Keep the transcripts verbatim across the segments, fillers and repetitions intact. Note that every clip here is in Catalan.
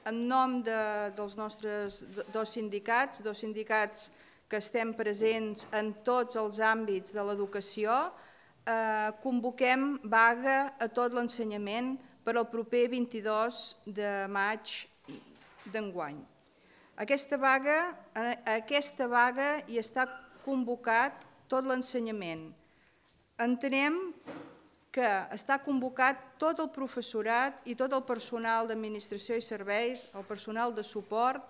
en nom de, dels nostres dos sindicats, dos sindicats que estem presents en tots els àmbits de l'educació, eh, convoquem vaga a tot l'ensenyament per al proper vint-i-dos de maig d'enguany. Aquesta vaga, aquesta vaga hi està convocat tot l'ensenyament. Entenem que està convocat tot el professorat i tot el personal d'administració i serveis, el personal de suport,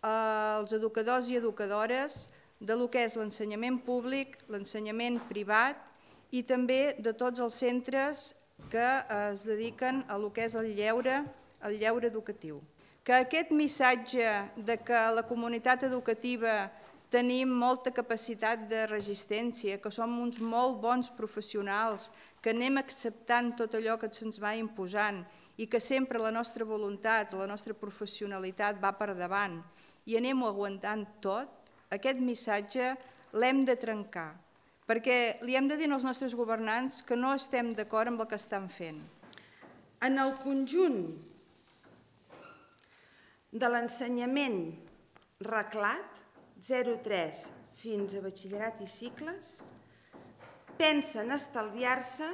els educadors i educadores de lo que és l'ensenyament públic, l'ensenyament privat i també de tots els centres que es dediquen a lo que és el lleure, el lleure educatiu. Que aquest missatge de que la comunitat educativa tenim molta capacitat de resistència, que som uns molt bons professionals, que anem acceptant tot allò que se'ns va imposant i que sempre la nostra voluntat, la nostra professionalitat va per davant i anem-ho aguantant tot, aquest missatge l'hem de trencar, perquè li hem de dir als nostres governants que no estem d'acord amb el que estan fent. En el conjunt de l'ensenyament reglat, zero tres fins a batxillerat i cicles, pensen estalviar-se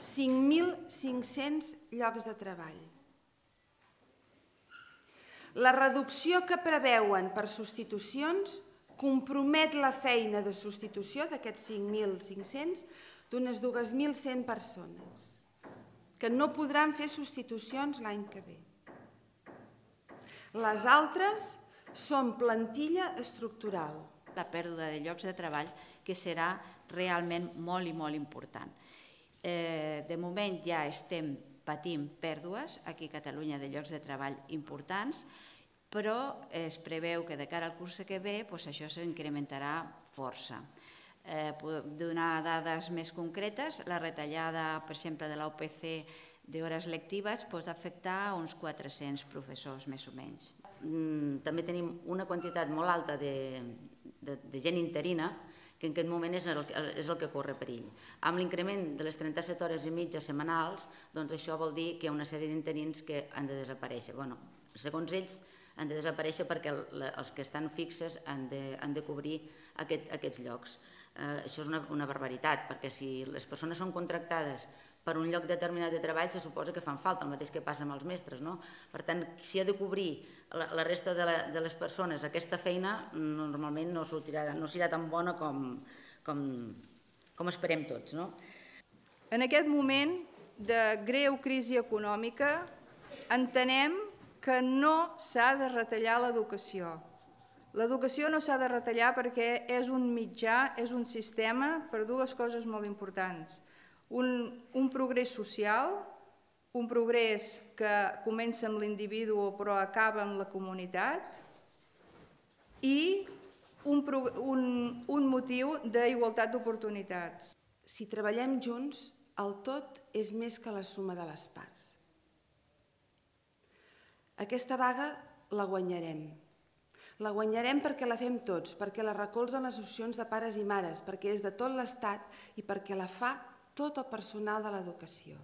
cinc mil cinc-cents llocs de treball. La reducció que preveuen per substitucions compromet la feina de substitució d'aquests cinc mil cinc-cents d'unes dos mil cent persones, que no podran fer substitucions l'any que ve. Les altres són plantilla estructural. La pèrdua de llocs de treball que serà realment molt i molt important. De moment ja estem patint pèrdues aquí a Catalunya de llocs de treball importants, però es preveu que de cara al curs que ve això s'incrementarà força. Donar dades més concretes, la retallada, per exemple, de l'A U P C d'hores lectives pot afectar uns quatre-cents professors, més o menys. També tenim una quantitat molt alta de gent interina que en aquest moment és el que corre perill. Amb l'increment de les trenta-set hores i mitja setmanals, doncs això vol dir que hi ha una sèrie d'interins que han de desaparèixer. Segons ells, han de desaparèixer perquè els que estan fixes han de cobrir aquests llocs. Això és una barbaritat, perquè si les persones són contractades per un lloc determinat de treball, se suposa que fan falta, el mateix que passa amb els mestres. Per tant, si ha de cobrir la resta de les persones aquesta feina, normalment no serà tan bona com esperem tots. En aquest moment de greu crisi econòmica, entenem que no s'ha de retallar l'educació. L'educació no s'ha de retallar perquè és un mitjà, és un sistema per dues coses molt importants. Un progrés social, un progrés que comença amb l'individu però acaba amb la comunitat i un motiu d'igualtat d'oportunitats. Si treballem junts, el tot és més que la suma de les parts. Aquesta vaga la guanyarem. La guanyarem perquè la fem tots, perquè la recolzen les associacions de pares i mares, perquè és de tot l'Estat i perquè la fa tot el personal de l'educació.